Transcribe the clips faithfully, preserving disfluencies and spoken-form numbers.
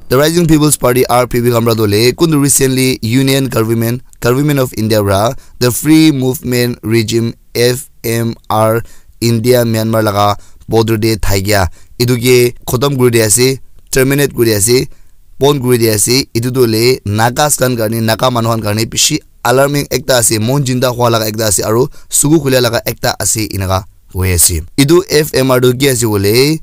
The Rising People's Party, R P P, khan para tu hoile kuntu recently Union Government, Government of India para the Free Movement Regime, F M R, India Myanmar laga border te thakia etu ke khotom kuri di ase, terminate kuri di ase, bon kuri di ase. Etu tu hoile Nagas khan karne, Naga manu khan karne bishi alarming ekta ase, mon jinda hua laga ekta ase, aru suku khulia laga ekta ase, enaka hoi ase. Etu F M R tu ki ase hoile,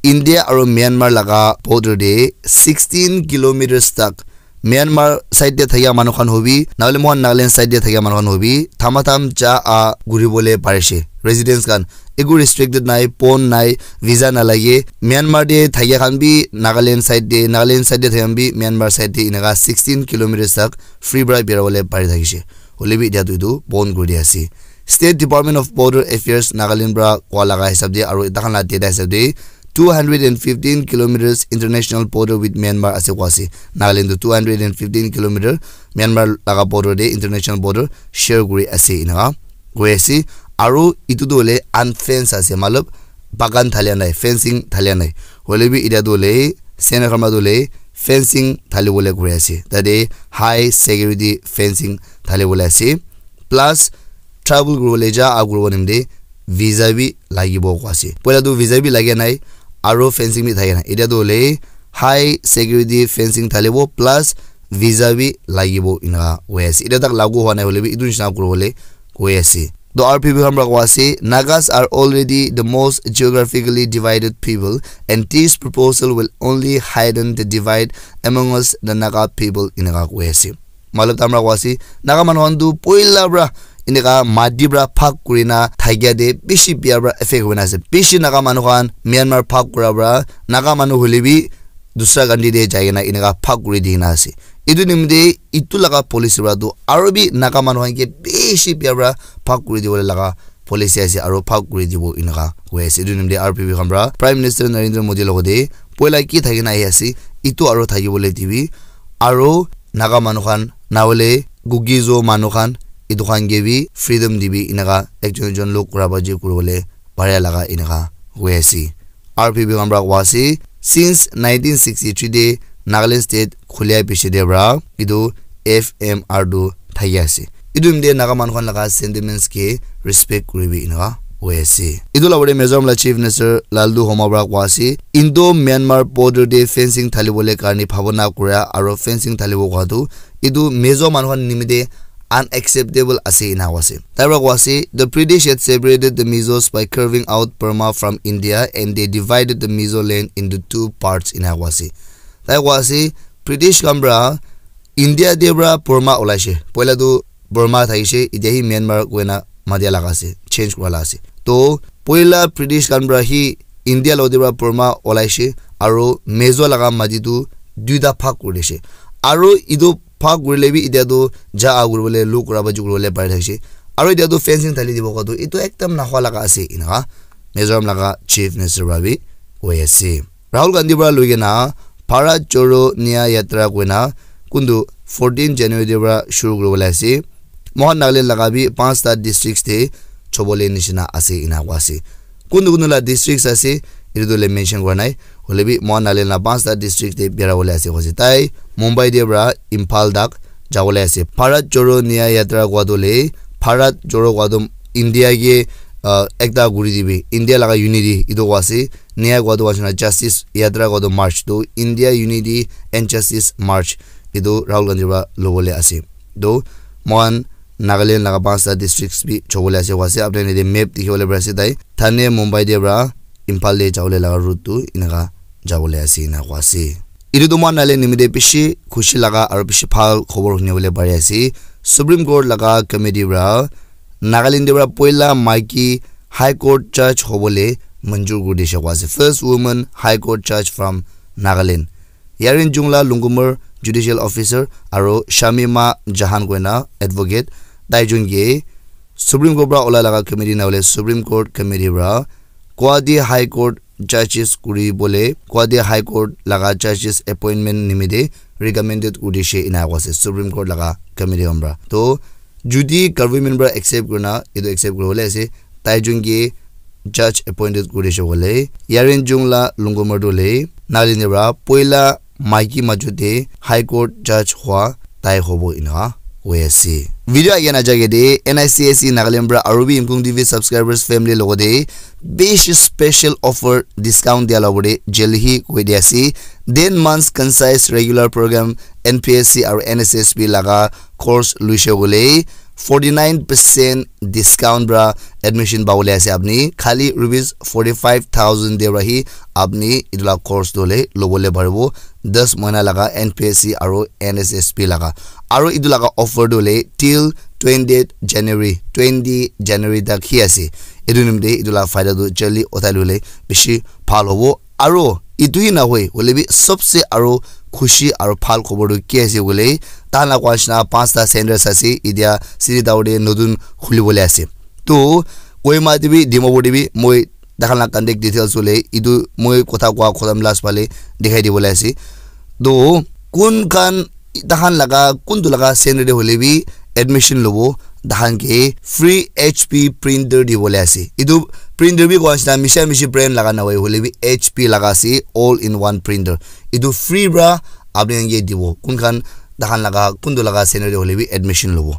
India aru Myanmar laga border te sixteen kilometers tak Myanmar side te thakia manu khan hobi, nahole mohan Nagaland side te thakia manu khan hobi, thamatham ja a guri bole parishe. Residents khan eku restricted nai, pon nai, visa nalage. Myanmar te thakia khan bi Nagaland side te, Nagaland side te thakia khan bi Myanmar side te enaka sixteen kilometers tak free para bera bole pari thakishe. Hoile bi etia tu etu bon kuri dia ase. State Department of Border Affairs Nagaland para koa laga hisab te aru eta khan la data hisab te two hundred and fifteen kilometers international border with Myanmar ase koa ase. Nagaland tu two hundred and fifteen kilometer Myanmar laga border te international border share kuri ase enaka koi ase. Aru etu tu hoile unfence ase, matlab bagan thalia nai, fencing thalia nai. Hoile bi etia tu hoile Sena khan para tu hoile fencing thali bole koi ase. Tate high security fencing thali bole ase. Plus travel kuri bole ja a kuri bole nimite visa bi lagibo koi ase. Poila tu visa bi lagia nai, aru fencing bi thakia nai. Etia tu hoile high security fencing thalibo plus visa bi lagibo enaka hoi ase. Etia tak lagu hua nai hoile bi etu nisna kuri bole koi ase. To R P P khan para koi ase, Nagas are already the most geographically divided people, and this proposal will only heighten the divide among us, the Naga people, enaka koi ase. Matlab tamra koi ase, Naga manu khan tu poila para enaka mati para bhag kurina thakia te bishi bia para affect hoina ase. Bishi Naga manu khan Myanmar bhag kura para Naga manu hoile bi dusra country te jai kena enaka bhag kuri di kena ase. Etu nimite etu laga policy para tu aru bi Naga manu khan ke bishi bia para bhag kuri dibole laga policy ase aru bhag kuri dibo enaka koi ase. Etu nimite R P P khan para Prime Minister Narendra Modi logote poila ki thaki na ahi ase, etu aru thaki bole dibi aru Naga manu khan na hoile Kuki-Zo manu khan etu khan ke bi freedom dibi enaka ekjon ekjon log kura baji kuri bole paria laga enaka hoi ase. R P P khan para koi ase, since nineteen sixty-three te Nagaland state khulia piche te para etu F M R tu thaki ase. Etu nimite Naga manu khan laga sentiments ke respect kuribi enaka hoi ase. Etu la pore Mizoram la Chief Minister Lalduhoma para koi ase, Indo-Myanmar border te fencing thali bole karne bhabona kura aru fencing thalibo koi tu etu Mizo manu khan nimite unacceptable ase ena koi ase. Tai para koi ase, the British had separated the Mizos by carving out Burma from India and they divided the Mizo land into two parts ena koi ase. Tai koi ase, British khan para India te para Burma olaishe. Poila tu Burma thakishe, etia hi Myanmar koina matia laga ase, change kura la ase. To poila British khan para hi India logote para Burma olaishe, aru Mizo laga mati tu duita bhag kuri dishe. Aru etu bhag kurile bi etia tu ja a kuri bole, log kura baji kuri bole pari thakishe. Aru etia tu fencing thali dibo koi tu etu ekdam nahua laga ase enaka Mizoram laga Chief Minister para bi koi ase. Rahul Gandhi para loi kena Bharat Jodo Nyay Yatra koina kuntu fourteen January te para shuru kuri bole ase. Mohan Nagaland laga bi panchta districts te chobole nishina ase ena koi ase. Kuntu kuntu la districts ase, etu tu le mention kura nai. Hoile bi Mohan Nagaland la panchta district te bera bole ase koi ase. Tai Mumbai te para Imphal tak jabole ase. Bharat Jodo Nyay Yatra koi tu le Bharat Jodo koi tu India ke, uh, ekta kuri dibi, India laga unity etu koi ase. Nyay koi tu ase na justice, yatra koi tu march tu India unity and justice march etu Rahul Gandhi para lobole ase. To mohan Nagaland laga panchta districts bi chobole ase koi ase. Apni khan yate map dikhi bole pari ase tai. Thane Mumbai te para Imphal te jabole laga route tu enaka jabole ase ena koi ase. Etu tu mohan Nagaland nimite bishi khushi laga aru bishi bhal khobor huni bole pari ase. Supreme Court laga committee para Nagaland te para poila maiki High Court judge hobole manjur kuri dishe koi ase. First woman High Court judge from Nagaland. Yarin Jungla Lungkumar judicial officer aru Shamima Jahan koina advocate, tai jun ke Supreme Court para ola laga committee na hoile Supreme Court committee para Guwahati High Court judges kuri bole, Guwahati High Court laga judges appointment nimite recommended kuri dishe ena koi ase Supreme Court laga committee khan para. To jodi government para accept kurina, etu accept kuri bole ase, tai jun ke judge appointed kuri dishe bole, Yarin Jungla Lungkumar tu le Nagaland para poila maiki majot te High Court judge hua tai hobo ena koi ase. Video age na jage de N I C S E Nagaland pra aru bi Imkung T V subscribers family logo de bishi special offer discount dia logo de jeli hi koi dia ase. Ten months concise regular program N P S C aru N S S B laga course luishe gole forty nine percent discount pra admission pabole ase apni. Khali rupees forty five thousand de pra hi apni etu la course dole lobole paribo. Das mahina laga N P S C aru N S S B laga. Aru etu laga offer dole till twentieth January, twenty January tak hi ase. Etu nimite etu la faida tu jali uthai lole bishi bhal hobo. Aru etu hi nahoi, hoile bi sobse aru khushi aru bhal khobor tu ki ase koile, tahan la koa nishina panchta centers ase, etia Siritaur te notun khulibole ase. To Kohima te bi, Dimapur te bi, moi tahan la contact details hoile, etu moi kotha koa khotom last phale dikhai dibole ase. To kun khan tahan laga, kuntu laga center te hoile bi admission lobo, tahan ke free H P printer dibole ase. Etu printer bi koa nishina misha mishi brand laga nahoi, hoile bi H P laga ase, all in one printer. Etu free pra apni khan ke dibo. Kun khan tahan laga, kuntu laga center te hoile bi admission lobo.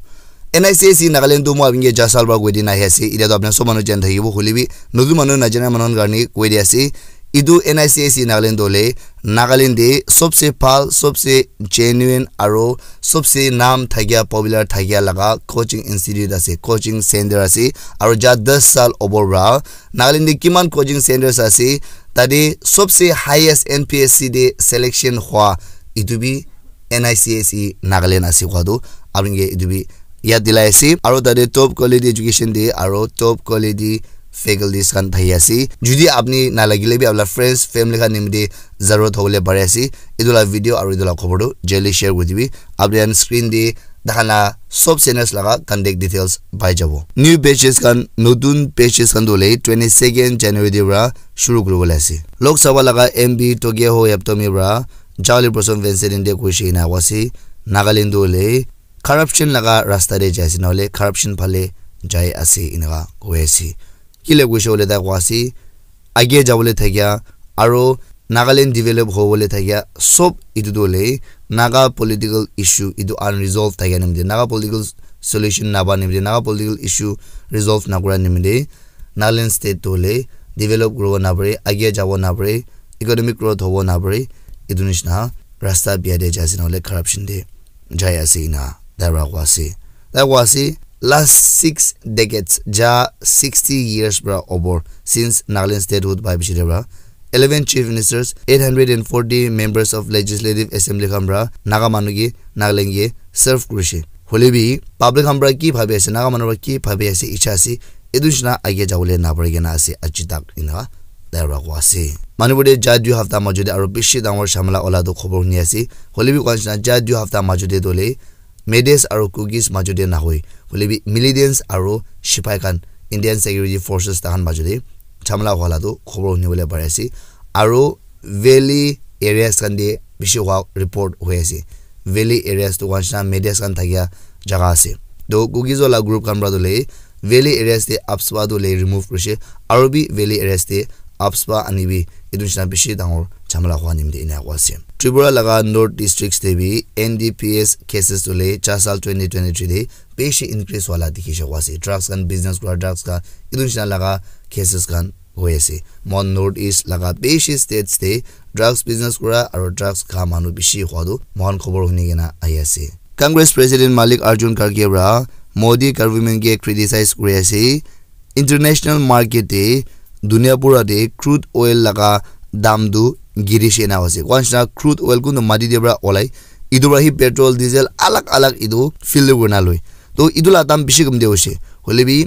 N I C S E Nagaland tu moi apni ke jasal pra koi dina ahi ase. Etia tu apni khan sob manu jani thakibo, hoile bi notun manu najana manu khan karne koi di ase. Etu N I C S E Nagaland tu hoile Nagaland te sobse bhal, sobse genuine aru sobse naam thakia, popular thakia laga coaching institute ase, coaching center ase. Aru ja das saal opor pra Nagaland te kiman coaching centers ase, tate sobse highest N P S C te selection hua etu bi N I C S E Nagaland ase koa tu apni ke etu bi yad dilai ase. Aru tate top quality education de aru top quality faculties khan thaki ase. Jodi apni nalagile bi apna friends, family khan nimite zarurat hobole pare ase. Etu la video aru etu la khobor tu jali share kuri dibi. Apni khan screen te tahan la sob centers laga contact details pai jabo. New batches khan, notun batches khan tu hoile twenty second January te pra shuru kuribole ase. Lok Sabha laga M P Togeho Yabtomi pra Charlie Blossom Vincent India kuishe ena koa ase. Nagaland tu hoile corruption laga rasta te jai ase, nahole corruption phale jai ase, eneka koi ase. Kile koishe koile tai koa ase, age jabole thakia, aro Nagaland develop hobole thakia, sob etu tu hoile Naga political issue, etu unresolved thakia nimite, Naga political solution naba nimite, Naga political issue resolve nakura nimite, Nagaland state tu hoile develop kuribo napare, age jabo napare, economic growth hobo napare, etu nishina rasta bia te jai ase, nahole corruption te jai ase ena tai para koa ase. Tai koa ase, last six decades, ja sixty years para opor, since Nagaland statehood pai piche te para, eleven chief ministers, eight hundred and forty members of legislative assembly khan para Naga manu ke, Nagaland ke serve kurishe. Hole bi public khan para ki bhabi ase, Naga manu para ki bhabi ase, icha ase, etu nishina age jabole napari kena ase aji tak ena tai para koa ase. Manipur te ja dui hafta majo te aro bishi dangor jhamela ola tu khobor huni ase. Hole bi koa nishina ja dui hafta majo te tu hoile Meiteis aro Kukis majo te nahoi, hole bi militants aro sipai khan, Indian Security Forces, tahan majo te jhamela hua la tu khobor huni bole pari ase. Aro valley areas khan te bishi hua report hoi ase. Valley areas tu koa nishina Meiteis khan thakia jaga ase. To Kukis wala group khan para tu hoile valley areas te AFSPA tu hoile remove kurishe, aro bi valley areas te AFSPA ani bi etu nishina bishi dangor jhamela hua nimite ena koa ase. Tripura laga north districts te bi N D P S cases tu hoile cha sal twenty twenty-three te bishi increase hua la dikhi sha koa ase. Drugs khan business kura, drugs khan etu nishina laga cases khan hoi ase. Mohan north east laga bishi states te drugs business kura aro drugs kha manu bishi hua tu mohan khobor huni kena ahi ase. Congress President Mallikarjun Kharge para Modi government ke criticize kuri ase. International market te dunia pura te crude oil laga dam tu girishe ena ase. Koa nishina crude oil kuntu mati te para olai, etu para hi petrol, diesel alag alag etu fill kurina loi. To etu la dam bishi kamti hoishe. Hole bi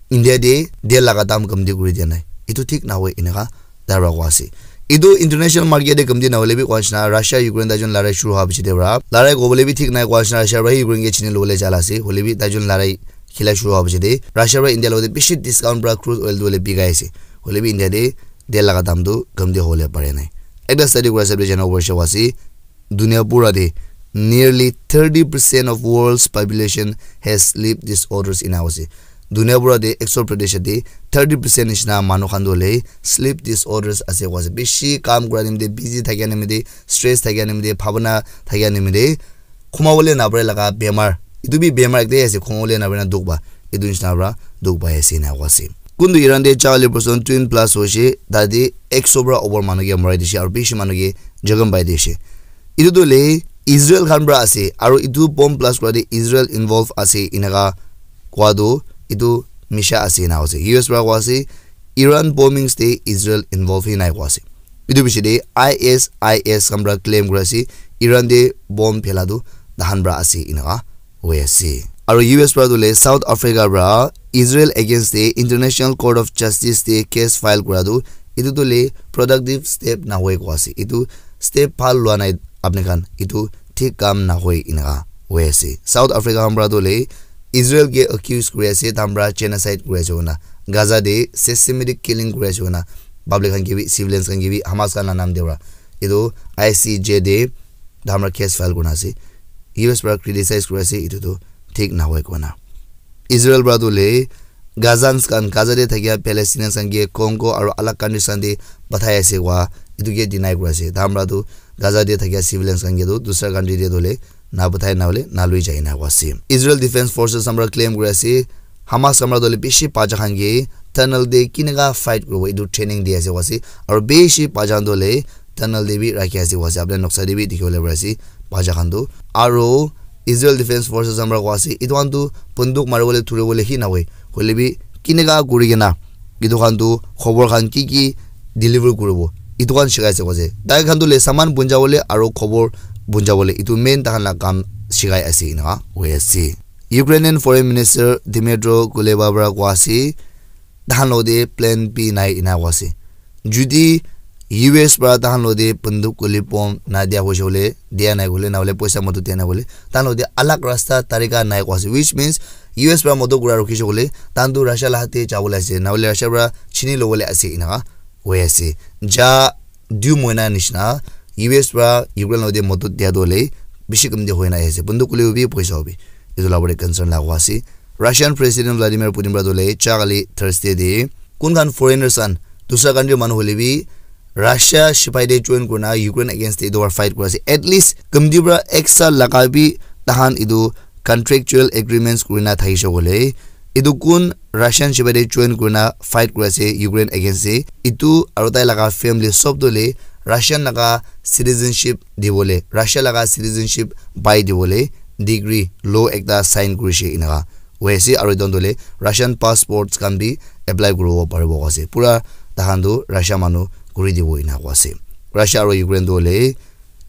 India te tel laga dam kamti kuri dia nai. Etu thik nahoi eneka tai para koa ase. Etu international market te kamti nahole bi koa nishina Russia Ukraine tai jun larai shuru hua piche te para, larai kobole bi thik nai, koa nishina Russia para hi Ukraine ke chini lobole jala ase. Hole bi tai jun larai khila shuru hua piche te Russia para India logote bishi discount para crude oil tu hoile bikai ase. Hole bi India te tel laga dam tu kamti hobole pare nai. Ekta study kura hisab te jana hobo ase, dunia pura te nearly thirty percent of world's population has sleep disorders ena ase. Dunia pura te ekso protesha te thirty percent nishina manu khan tu hoile sleep disorders ase koa ase. Bishi kam kura nimite, busy thakia nimite, stress thakia nimite, bhabana thakia nimite khumawole napare laga bemar. Etu bi bemar ekta ase, khumawole napare na dukh pa. Etu nishina pra dukh pai ase ena koa ase. Kuntu Iran te chali person twin blast hoishe, tate ekso pra upor manu ke marai dishe, aru bishi manu ke jokhom pai dishe. Etu tu le Israel khan pra ase, aru etu bomb blast kura te Israel involve ase, enaka koa tu etu misha ase ena koa ase. U S pra koa ase, Iran bombings te Israel involve hi nai koa ase. Etu piche te I S I S khan pra claim kuri ase, Iran te bomb phela tu tahan pra ase enaka hoi ase. Aru U S pra tu le South Africa pra Israel against te International Court of Justice te case file kura tu etu tu le productive step nahoi koa ase. Etu step bhal lua nai apni khan, etu thik kam nahoi enaka hoi ase. South Africa khan pra tu le Israel ke accuse kuri ase, tahan pra genocide kuri ase koina, Gaza te systematic killing kuri ase koina, public khan ke bi, civilians khan ke bi, Hamas khan la nam te pra etu I C J te tahan pra case file kurina ase. U S pra criticize kuri ase, etu tu thik nahoi koina. Israel pra tu le Gazans khan, Gaza te thakia Palestinians khan ke Congo aru alag countries khan te pathai ase koa, etu ke deny kuri ase. Tahan pra tu Gaza te thakia civilians khan ke tu dusra country te tu le na pathai na hole na lui jai na koa ase. Israel Defense Forces khan pra claim kuri ase, Hamas khan pra tu le bishi bacha khan ke tunnel te kinaka fight kuribo etu training di ase koa ase. Aru bishi bacha khan tu le tunnel te bi rakhi ase koa ase. Apni noksa te bi dikhi bole pari ase bacha khan tu. Aru Israel Defense Forces khan pra koa ase, etu khan tu bunduk mari bole, thuri bole hi nahoi. Hoile bi kinaka kuri kena etu khan tu khobor khan ki ki deliver kuribo, etu khan shikai ase koa ase. Tai khan tu le saman punja bole aru khobor punja bole, etu main tahan la kam shikai ase enaka hoi ase. Ukrainian Foreign Minister Dmytro Kuleba pra koa ase, tahan lo te plan B nai ena koa ase. Judi U S pra tahan lo te bunduk guli bomb na dia hoise bole, dia nai hole, na hole poisa madad dia nai hole, tahan lo te alag rasta tarika nai koa ase, which means U S pra madad kura rukhise bole, tahan tu Russia la hath te jabole ase, na hole Russia pra chini lobole ase enaka hoi ase. Ja dui moina nishina U S pra Ukraine lo te madad dia tu le bishi kam te hoi na ase. Bunduk guli hobi, poisa hobi. Etu la pore concern la koa ase. Russian President Vladimir Putin pra tu le cha kali Thursday te kun khan foreigners khan, dusra country manu hole bi Russia sipai te join kurina Ukraine against te etu war fight kuri ase, at least kamti pra ek saal laga bi tahan etu contractual agreements kurina thakise koile, etu kun Russian sipai te join kurina fight kuri ase Ukraine against te, etu aru tai laga family sob tu le Russian laga citizenship dibole, Russia laga citizenship pai dibole decree, law ekta sign kurise enaka hoi ase. Aru etu tu le Russian passports khan bi apply kuribo paribo koa ase. Pura tahan tu Russia manu kuri dibo ena koa ase. Russia aru Ukraine tu le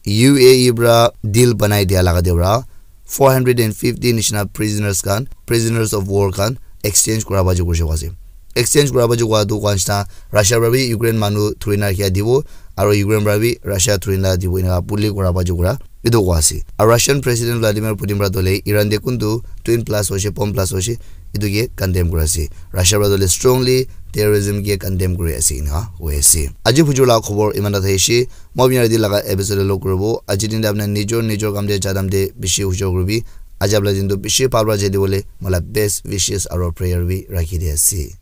U A E pra deal banai dia laga te pra four hundred and fifty nishina prisoners khan, prisoners of war khan exchange kura baji kurise koa ase. Exchange kura baji koa tu koa nishina Russia pra bi Ukraine manu thuri na rakhia dibo, aru Ukraine pra bi Russia thuri na dibo, enaka puli kura baji kura etu koa ase. Aru Russian President Vladimir Putin pra tu le Iran te kuntu twin blast hoise, bomb blast hoise, etu ke condemn kuri ase. Russia pra tu le strongly terrorism ke condemn kuri ase enaka hoi ase. Aji bujur la khobor iman ta thaishe. Moi apni yate laga episode lo kuribo. Aji din te apni nijor nijor kam te jadam te bishi hujor kuribi. Aji apni din tu bishi bhal pra jai dibole moi la best wishes aru prayer bi rakhi di ase.